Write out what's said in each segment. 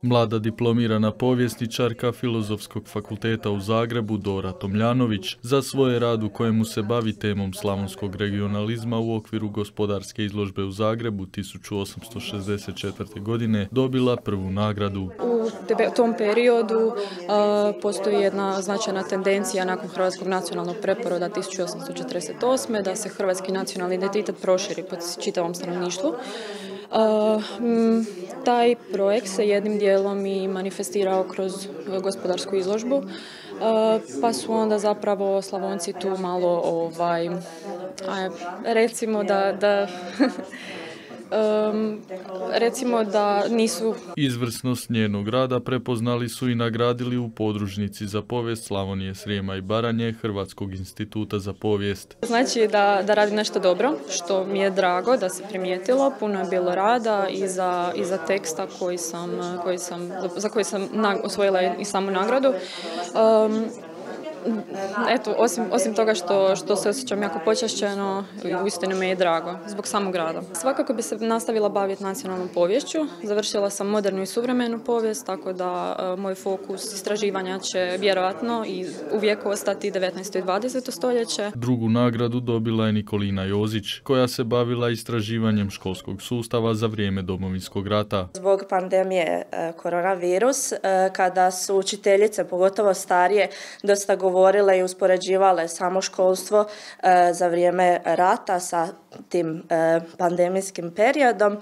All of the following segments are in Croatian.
Mlada diplomirana povjesničarka Filozofskog fakulteta u Zagrebu Dora Tomljanović za svoj rad u kojemu se bavi temom slavonskog regionalizma u okviru gospodarske izložbe u Zagrebu 1864. godine dobila prvu nagradu. U tom periodu postoji jedna značajna tendencija nakon Hrvatskog nacionalnog preporoda 1848. da se hrvatski nacionalni identitet proširi po čitavom stanovništvu. Taj projekt se jednim dijelom i manifestirao kroz gospodarsku izložbu, pa su onda zapravo Slavonci tu malo, recimo da nisu... Izvrsnost njenog rada prepoznali su i nagradili u podružnici za povijest Slavonije, Srijema i Baranje Hrvatskog instituta za povijest. Znači da radim nešto dobro, što mi je drago da se primijetilo. Puno je bilo rada i za teksta za koji sam osvojila i samu nagradu. Eto, osim toga što se osjećam jako počašćeno, uistinu mi je drago zbog samog rada. Svakako bi se nastavila baviti nacionalnom poviješću. Završila sam modernu i suvremenu povijest, tako da moj fokus istraživanja će vjerojatno i uvijek ostati 19. i 20. stoljeće. Drugu nagradu dobila je Nikolina Jozić, koja se bavila istraživanjem školskog sustava za vrijeme Domovinskog rata. Zbog pandemije koronavirus, kada su učiteljice, pogotovo starije, dosta govorile i uspoređivale samo školstvo za vrijeme rata sa tim pandemijskim periodom.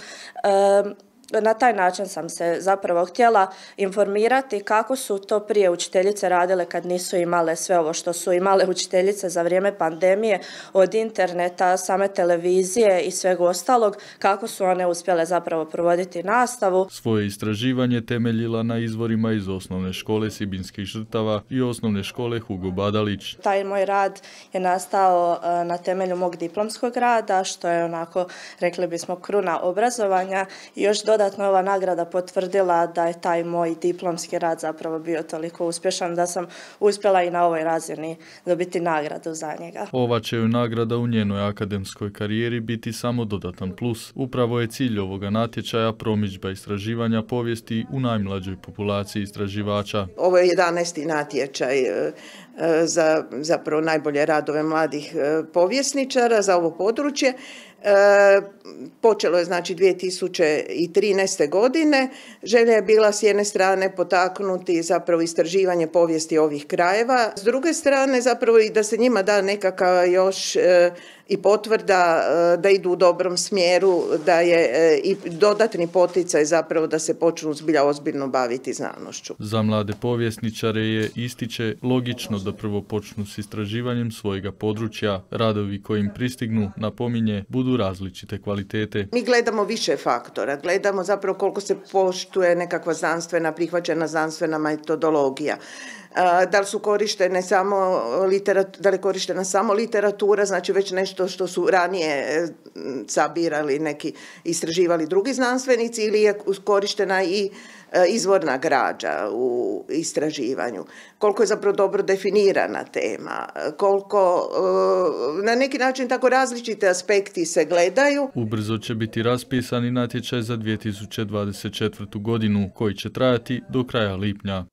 Na taj način sam se zapravo htjela informirati kako su to prije učiteljice radile kad nisu imale sve ovo što su imale učiteljice za vrijeme pandemije, od interneta, same televizije i svega ostalog, kako su one uspjele zapravo provoditi nastavu. Svoje istraživanje temeljila na izvorima iz osnovne škole Sibinskih žrtava i osnovne škole Hugo Badalić. Taj moj rad je nastao na temelju mog diplomskog rada, što je onako, rekli bismo, kruna obrazovanja i još dodatno ova nagrada potvrdila da je taj moj diplomski rad zapravo bio toliko uspješan da sam uspjela i na ovoj razini dobiti nagradu za njega. Ova će joj nagrada u njenoj akademskoj karijeri biti samo dodatan plus. Upravo je cilj ovoga natječaja promidžba istraživanja povijesti u najmlađoj populaciji istraživača. Ovo je 11. natječaj za zapravo najbolje radove mladih povjesničara za ovo područje. Počelo je znači 2013. godine. Želja je bila s jedne strane potaknuti zapravo istraživanje povijesti ovih krajeva. S druge strane zapravo i da se njima da nekakav još i potvrda da idu u dobrom smjeru, da je i dodatni poticaj zapravo da se počnu zbilja ozbiljno baviti znanošću. Za mlade povjesničare je, ističe, logično da prvo počnu s istraživanjem svojega područja. Radovi koji im pristignu, napominje, budu različite kvalitete. Mi gledamo više faktora, gledamo zapravo koliko se poštuje nekakva znanstvena, prihvaćena znanstvena metodologija. Da li su korištene da li je korištena samo literatura, znači već nešto što su ranije sabirali neki, istraživali drugi znanstvenici, ili je korištena i izvorna građa u istraživanju. Koliko je zapravo dobro definirana tema, koliko na neki način tako različite aspekti se gledaju. Ubrzo će biti raspisani natječaj za 2024. godinu koji će trajati do kraja lipnja.